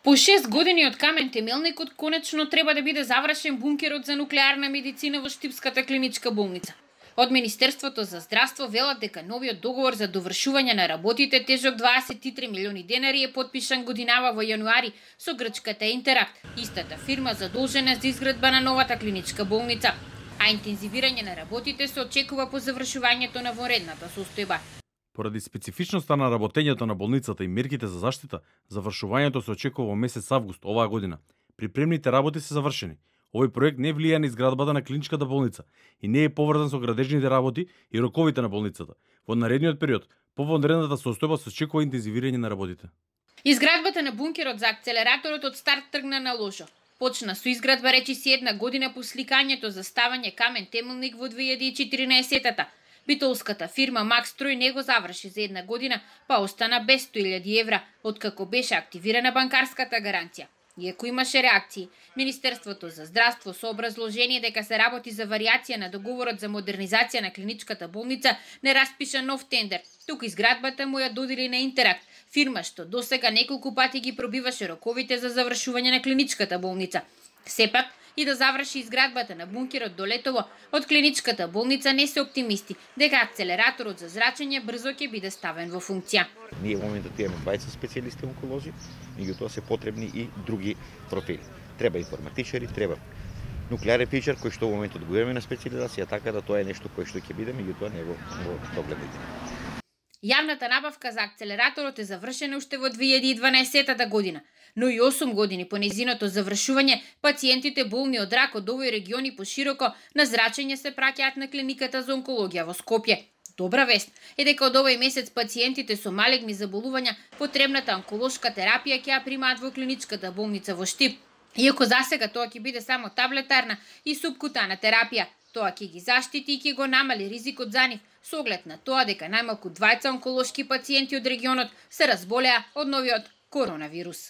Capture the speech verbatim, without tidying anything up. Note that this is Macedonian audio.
По шест години од камен темелникот конечно треба да биде завршен бункерот за нуклеарна медицина во Штипската клиничка болница. Од Министерството за здравство велат дека новиот договор за довршување на работите тежок дваесет и три милиони денари е потпишан годинава во јануари со грчката Интеракт, истата фирма задолжена за изградба на новата клиничка болница, а интензивирање на работите се очекува по завршувањето на вонредната состојба. Поради специфичноста на работењето на болницата и мерките за заштита, завршувањето се очекува во месец август оваа година. Припремните работи се завршени. Овој проект не влија на изградбата на клиничката болница и не е поврзан со градежните работи и роковите на болницата. Во наредниот период, по вонредната состојба се очекува интензивирање на работите. Изградбата на бункерот за акцелераторот од старт тргна на лошо. Почна со изградба речиси една година по сликањето за ставање камен темелник во две илјади и четиринаесетта. Битолската фирма Макстрој не го заврши за една година, па остана без сто илјади евра, откако беше активирана банкарската гаранција. Иако имаше реакции, Министерството за здравство со образложение дека се работи за варијација на договорот за модернизација на клиничката болница не распиша нов тендер, туку изградбата му ја додели на Интеракт, фирма што досега неколку пати ги пробиваше роковите за завршување на клиничката болница. Сепак, и да заврши изградбата на бункерот до летово, од клиничката болница не се оптимисти дека акцелераторот за зрачење брзо ќе биде ставен во функција. Ние во моментот имаме дваесет специјалисти онколози, меѓутоа се потребни и други профили. Треба информатичари, треба нуклеарен физичар кој што во моментот го имаме на специјализација, така да тоа е нешто кое што ќе биде, меѓутоа не во догледните. Јавната набавка за акцелераторот е завршена уште во две илјади и дванаесетта година, но и осум години по нејзиното завршување, пациентите болни од рак од овој регион и пошироко на зрачење се праќаат на клиниката за онкологија во Скопје. Добра вест е дека од овој месец пациентите со малегни заболувања потребната онколошка терапија ќе ја примаат во клиничката болница во Штип. Иако засега тоа ќе биде само таблетарна и субкутана терапија, тоа ќе ги заштити и ќе го намали ризикот за нив, со оглед на тоа дека најмалку двајца онколошки пациенти од регионот се разболеа од новиот коронавирус.